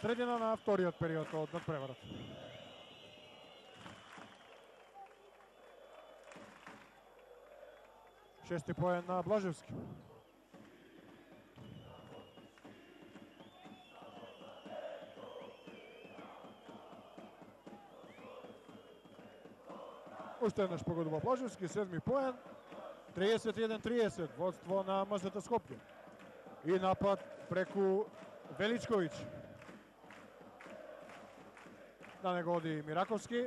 средина на вториот период од надпреварот. Шести поен на Блажевски. Уште еднаш погодува Блажевски, седми поен. 31-30, водство на МЗТ Скопје. И напад преку Величковиќ. На него оди Мираковски.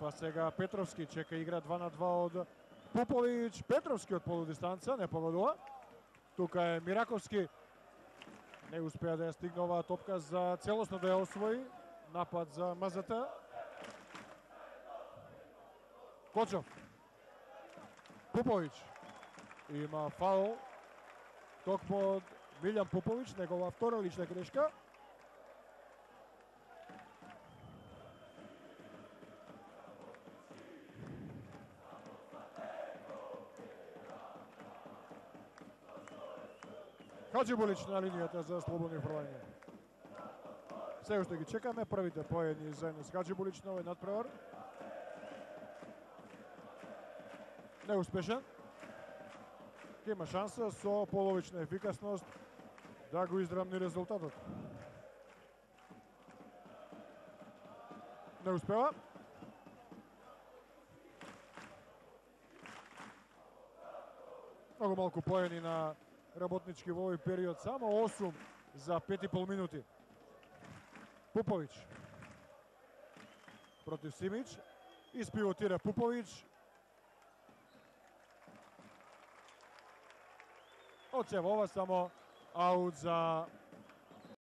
Па сега Петровски чека игра 2 на 2 од Пуповиќ. Петровски од полудистанца, не погодува. Тука е Мираковски. Не успеа да ја стигне оваа топка за целосно да ја освои. Напад за МЗТ. Кочов. Пуповиќ. Има фаул. Токму од Милјан Пуповиќ, негова втора лична грешка. Хаџибулиќ на линијата за слободни фрлања. Се уште ги чекаме првите поедни заедно с Хаџибулиќ на овој надпревар. Неуспешен. Има шанса со половична ефикасност да го издрабни резултатот. Не успева. Многу малку поени на работнички во овој период, само 8 за 5,5 минути. Пуповиќ против Симиќ. Испивотира Пуповиќ. Од се ова само аут за